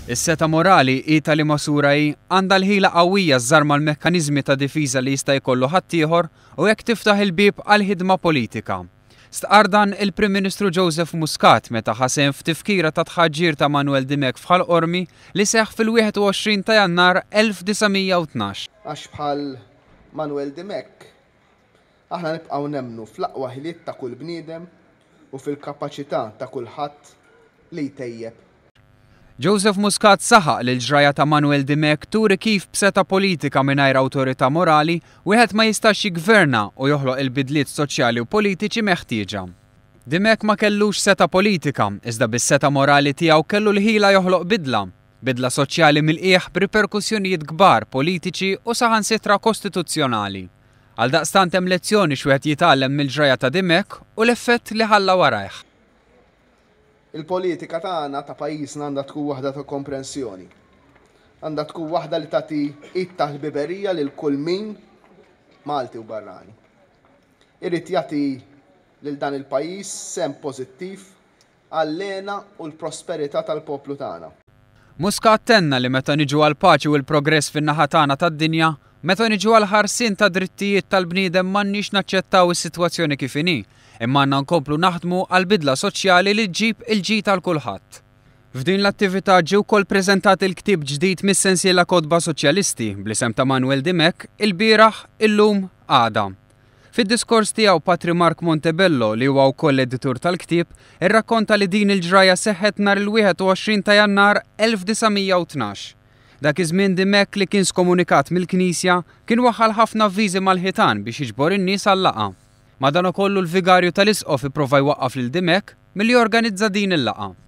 Is-setgħa morali hi ta' liema sura hi, għandha l-ħila qawwija żżarma l-mekkaniżmi ta' difiża li jista' jkollu ħaddieħor u hekk tiftaħ il-bieb għal ħidma politika. Stqarr dan il-Prim Ministru Joseph Muscat meta ħa sehem f'tifkira ta' tħaġġir ta' Manuel Dimech f'Ħal Qormi li seħħ fil-21 ta' Jannar 1912. Għax bħal Manuel Dimech, aħna nibqgħu nemmnu fl-aqwa ħiliet ta' kull bniedem u fil-kapaċità ta' kulħadd li jtejjeb Joseph Muscat saħaq li l-ġrajja ta' Manuel Dimech turi kif b'setgħa politika mingħajr awtorità morali wieħed ma jistax jiggverna u joħloq il-bidliet soċjali u politiċi meħtieġa. Dimech ma kellux setgħa politika, iżda bis-setgħa morali tiegħu kellu l-ħila joħloq bidla. Bidla soċjali mill-qiegħ b'riperkussjonijiet kbar politiċi u saħansitra kostituzzjonali. Għaldaqstant hemm lezzjoni x'wieħed jitgħallem mill-ġrajja ta' Dimech u l-effett li ħalla warajh. Il-politika tagħna ta' pajjiżna għandha tkun waħda ta' komprensjoni. Għandha tkun waħda li tagħti id ta' ħbiberija lil kull min, Malti u barrani, irid jagħti lil dan il-pajjiż sehem pożittiv għall-hena u l-prosperità tal-poplu tagħna. Muscat tenna li meta niġu għall-paċi u l-progress fin-naħa tagħna tad-dinja, meta niġu għall-ħarsien tad-drittijiet tal-bniedem m'għandniex naċċettaw is-sitwazzjoni kif inhi, imma għandna nkomplu naħdmu għal bidla soċjali li ġġib il-ġid għal kulħadd. F'din l-attività ġie wkoll preżentat il-ktieb ġdid mis-sensiela Kotba Soċjalisti bl-isem ta' Manuel Dimech, Ilbieraħ, Illum, Għada. Fid-diskors tiegħu Patri Mark Montebello, li huwa wkoll l-editur tal-ktieb, irrakkonta li din il-ġrajja seħħet nhar il-21 ta' Jannar 1912. Dak iż-żmien Dimech li kien skomunikat mill-Knisja, kien waħħal ħafna avviżi mal-ħitan biex jiġbor in-nies għal-laqgħa. Madankollu l-vigarju tal-Isqof ipprova jwaqqaf lil Dimech milli jorganizza din il-laqgħa.